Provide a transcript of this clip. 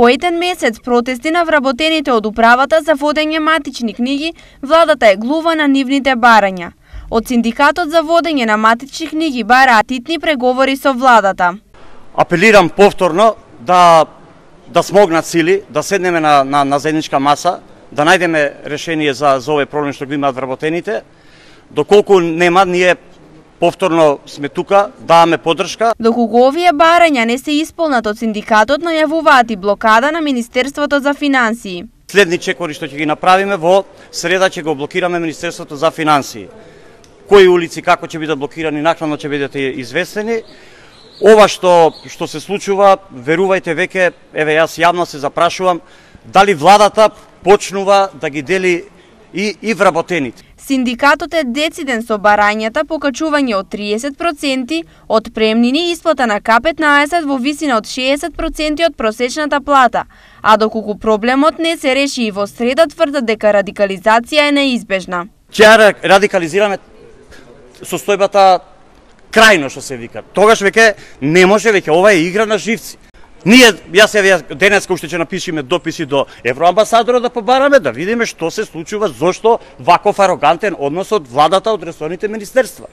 По еден месец протести на вработените од управата за водење матични книги, владата е глува на нивните барања. Од синдикатот за водење на матични книги бараат итни преговори со владата. Апелирам повторно да смогнат сили, да седнеме на заедничка маса, да најдеме решение за овој проблем што го имаат вработените. Доколку нема, ние повторно сме тука, даваме поддршка. Доколку овие барања не се исполнат од синдикатот, најавуваат и блокада на Министерството за финансии. Следни чекори што ќе ги направиме во среда ќе го блокираме Министерството за финансии. Кои улици како ќе бидат блокирани, накнадно ќе бидете известени. Ова што се случува, верувајте веќе, еве јас јавно се запрашувам, дали владата почнува да ги дели и вработените. Синдикатот е дециден со барањата покачување од 30%, од премнини и исплата на К15 во висина од 60% од просечната плата, а доколку проблемот не се реши и во среда, тврдат дека радикализација е неизбежна. Ќе радикализираме состојбата крајно што се вика. Тогаш веќе не може, веќе ова е игра на живци. Ние, денеска уште ќе напишеме дописи до евроамбасадорот да побараме, да видиме што се случува, зошто ваков арогантен однос од владата, од ресорните министерства.